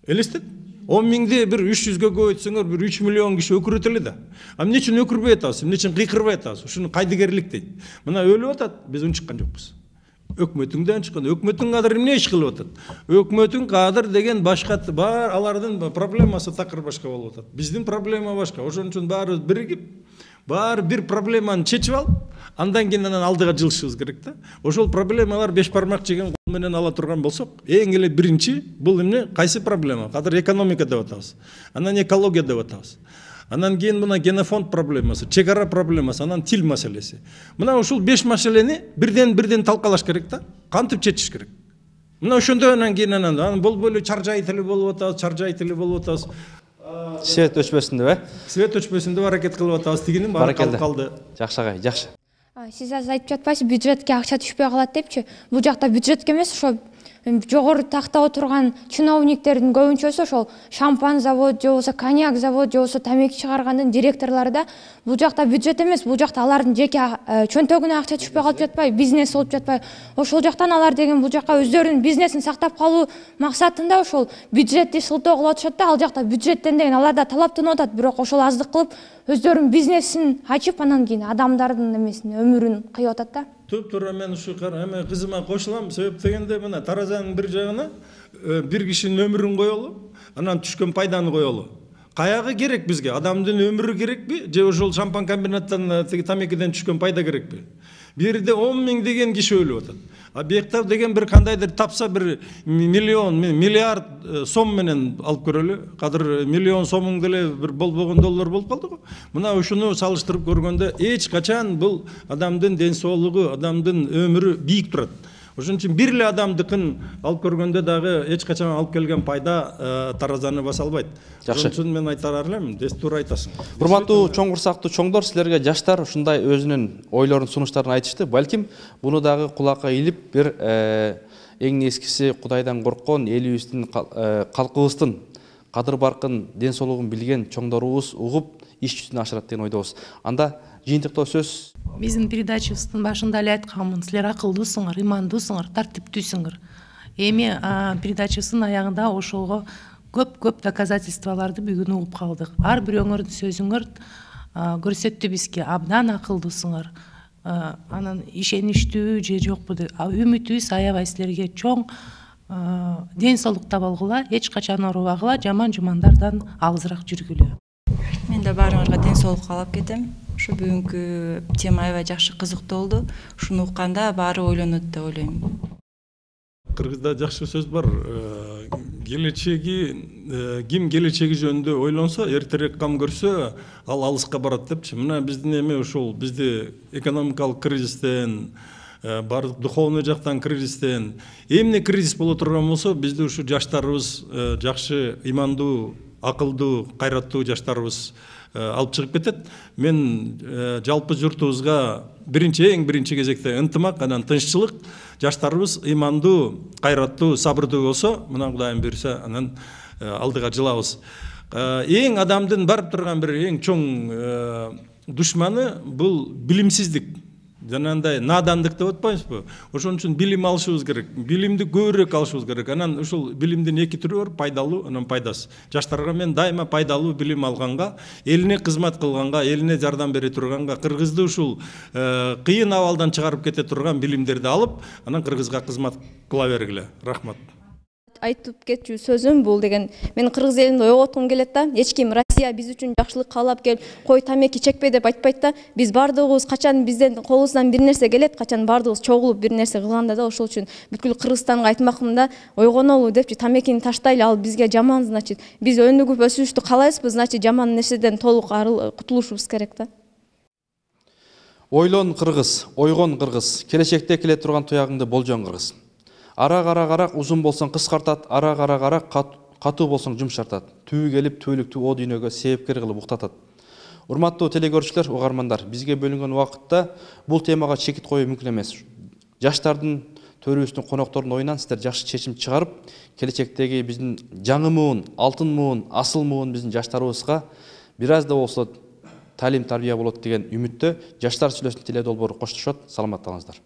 Элестет? 10 миңди bir 300'гө көбөйтсөңөр bir 3 миллион киши өкүрөт эле да. А эмне үчүн өкүрбөй атабыз? Эмне үчүн кыйкырбай атабыз? Ушуну кайдыгерлик дейт. Мына өлүп атат, биз унчуккан жокпуз. Өкмөтүңдөн чыккан. Өкмөтүң кадыр эмне иш кылып атат? Өкмөтүң кадыр деген башка бар, алардын проблемасы такыр башка болуп атат. Биздин проблема башка. Ошон үчүн баарыбыз биригип, баары бир проблеманы чечип алып, андан кийин анан алдыга жылышыбыз керек да. Ошол проблемалар беш бармак жеген кол менен ала турган болсок, эң эле биринчи бул эмне? Кайсы проблема? Кадыр экономика деп атабыз. Анан экология деп атабыз. Анан кийин мына генофонд проблемасы, чек ара проблемасы, анан тил маселеси. Мына ушул 5 маселени бирден талкалаш керек да. Кантип чечиш керек? Мына ошондо анан кийин анан болбой эле чаржай тили болуп атабыз, Свет өчпөсүн деп, Свет өчпөсүн деп аракет кылып атабыз. Тигинин баары калды. Жакшы агай, жакшы. Сиз азыр айтып жатпайсыз, бюджетке акча түшпөй калат депчи. Бул жакта бюджетке эмес, ошо жогору такта отурган чиновниктердин көбүнчөсү ошол шампан завод же болбосо коньяк завод же болбосо тамеки чыгаргандын директорлору да. Бул жакта бюджет эмес, бул жакта алардын жеке чөнтөгүнө акча түшпөй калып жатпайбы, бизнес болуп жатпайбы? Ошол жактан алар деген бул жака өздөрүнүн бизнесин сактап калуу максатында ошол бюджетти шылтоо кылып атышат да. Ал жакта бюджеттен деген аларда талаптанып атат, бирок ошол аздык кылып өздөрүнүн бизнесин ачып, анан кийин адамдардын эмесин, өмүрүн кыйып атат да. Туп-туура мен ушу эме кызыма кошулам. Себеп дегенде мына таразанын бир жагына бир кишинин өмүрүн коелу, анан түшкөн пайданы коелу. Каягы керек бизге? Адамдын өмүрү керекпи же ошол шампан комбинаттан тамекиден түшкөн пайда керекпи? Бир жерде 10 миң деген киши өлүп атат. А бияктар деген бир кандайдыр тапса бир миллиард сом менен алып көрөлү. Кадыр миллион сомуң деле бир болбогон доллар болуп калды го. Мына ушуну салыштырып көргөндө эч качан бул адамдын ден соолугу, адамдын өмүрү бийик турат. Ошон үчүн бир эле адамдыкын алып көргөндө дагы эч качан алып келген пайда таразаны баса албайт. Ошон үчүн мен айтар элем, туура айтасың. Урматтуу чоң курсактуу чоңдор, силерге жаштар ушундай өзүнүн ойлорун, сунуштарын айтышты. Балким буну дагы кулакка илип бир эң нескиси Кудайдан корккон, элибиздин, калкыбыздын кадыр баркын, ден соолугун билген чоңдорубуз угуп иш жүзүнө ашырат деген ойдобуз. Анда жыйынтыктоо сөз. Биздин передачабыздын башында эле айтканмын, силер акылдуусуңар, имандуусуңар, тартиптүүсүңөр. Эми передачабыздын аягында ошого көп доказательстволорду бүгүн угуп калдык. Ар бирөөңөрдүн сөзүңөр көрсөттү бизге, абдан акылдуусуңар. Анан ишеничтүү же жокпу деп үмүтүбүз аябай силерге чоң ден соолук таба алгыла, эч качан оорубагыла, жаман-жумандардан алысыраак жүргүлө. Мен да баарыңарга ден соолук каалап кетем. Ушу бүгүнкү тема аябай жакшы кызыктуу болду. Ушуну укканда баары ойлонот деп ойлойм. Кыргызда жакшы сөз бар. Ким келечеги жөнүндө ойлонсо, эртерээк кам көрсө, ал алыска барат депчи. Мына биздин эме ушул, бизди экономикалык кризистен, бардык духовный жактан кризистен, эмне кризис боло турган болсо, бизди ушу жаштарыбыз, жакшы, имандуу, акылдуу, кайраттуу жаштарыбыз алып чыгып кетет. Мен жалпы журтубузга эң биринчи кезекте ынтымак, анан тынччылык, жаштарыбыз имандуу, кайраттуу, сабырдуу болсо, мына Кудайым буйрса, анан алдыга жылабыз. Эң адамдын барып турган бир эң чоң душманы бул билимсиздик. Жанагындай надандык деп атпайбызбы? Ошон үчүн билим алышыбыз керек. Билимди көбүрөөк алышыбыз керек. Анан ушул билимдин эки түрү бар, пайдалуу, анан пайдасыз. Жаштарга мен дайыма пайдалуу билим алганга, элине кызмат кылганга, элине жардам бере турганга, Кыргызды ушул кыйын абалдан чыгарып кете турган билимдерди алып, анан Кыргызга кызмат кыла бергиле. Рахмат. Айтып кетчү сөзүм бул деген, мен кыргыз элинде ойготкум келет да. Эч ким Россия биз үчүн жакшылык каалап келип, кой тамеки чекпей деп айтпайт да. Биз бардыгыбыз качан бизден колубуздан бир нерсе келет, качан бардыгыбыз чогулуп бир нерсе кылганда да, ошол үчүн бүткүл Кыргызстанга айтмакмын да, ойгонолу депчи, тамекини таштайлы, ал бизге жаман, значит, биз өнүгүп өсүштү каалайбызбы, значит, жаман нерседен толук кутулушубуз керек да. Ойлон Кыргыз, ойгон Кыргыз, келечекте келе турган туягыңды болжон Кыргыз. Ара узун болсоң кыскартат, ара катуу болсоң жумшартат. Түбү келип түбөлүктүү о дүйнөгө себепкер кылып уктатат. Урматтуу телекөрүүчүлөр, угармандар, бизге бөлүнгөн убакытта бул темага чекит коюу мүмкүн эмес. Жаштардын, төрүбүздүн, коноктордун оюнан сиздер жакшы чечим чыгарып, келечектеги биздин жаңы муун, алтын муун, асыл муун биздин жаштарыбызга бир аз да болсо талим тарбия болот деген үмүттө Жаштар сүйлөсүн теле долбоору коштошот. Саламаттыгыңыздар.